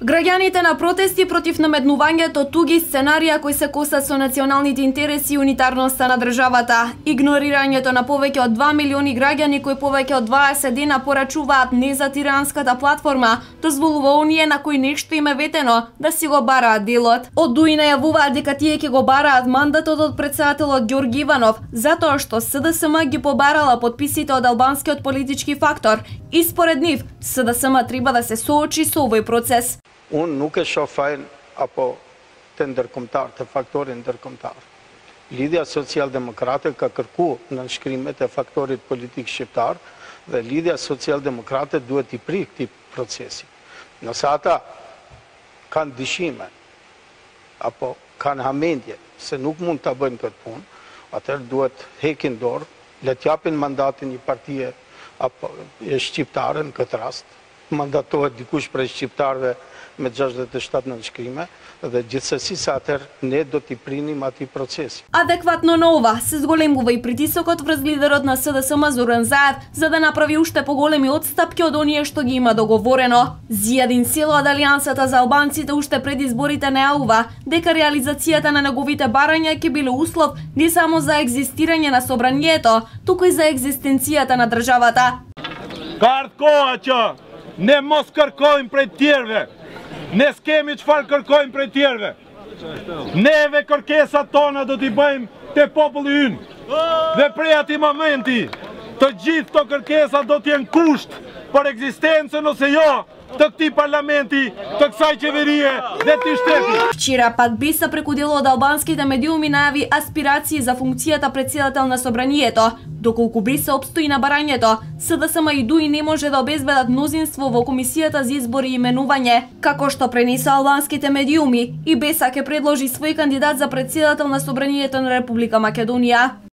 Граѓаните на протести против наметнувањето туги сценарија кои се косат со националните интереси и унитарноста на државата, игнорирањето на повеќе од 2 милиони граѓани кои повеќе од 20 дена порачуваат не за тиранската платформа, дозволува оние на кои нешто им е ветено да си го бараат делот. Од ДУИ најавуваат дека тие ќе го бараат мандатот од претседателот Ѓорги Иванов, затоа што СДСМ ги побарала подписите од албанскиот политички фактор и според нив СДСМ треба да се соочи со овој процес. Unë nuk e shoh fajin apo të ndërkombëtar, të faktorit ndërkombëtar. Lidhja Social-Demokrate ka kërku në nënshkrimet e faktorit politik shqiptar dhe Lidhja Social-Demokrate duhet i prik këtij procesi. Nëse ata kanë dyshime apo kanë hamendje se nuk mund ta bëjnë këtë punë, atëherë duhet hekin dorë, le t'japin mandatin një partie apo shqiptare në këtë rast, mandatohet dikush prej shqiptarëve me 67 nënshkrime dhe gjithsesi sa atëherë ne do t'i prinim atij procesi. Адекватно на ова се зголемува и притисокот врз лидерот на СДСМ Зоран Заев за да направи уште поголеми отстапки од оние што ги има договорено. Зијадин Село од Алијансата за албанците уште пред изборите најавува дека реализацијата на неговите барања ќе биле услов не само за екзистирање на собранието, туку и за екзистенцијата на државата. Ka koha që ne mos kërkojmë prej tjerëve. Ne s'kemi çfarë kërkojmë prej tjerëve. Neve kërkesat tona do t'i bëjmë te populli ynë. Dhe prej atij momenti, të gjithë këto kërkesa do t'jenë kusht për ekzistencën ose jo të këtij parlamenti, të kësaj qeverie dhe të shtetit. Вчера Падбиса преку дело од албанските медиуми најави аспирации за функцијата претседател на собранието. Доколку Биса обстои на барањето, СДСМ и ДУИ не може да обезбедат мнозинство во комисијата за избори и именување. Како што пренеса албанските медиуми, и Беса ќе предложи свој кандидат за претседател на собранието на Република Македонија.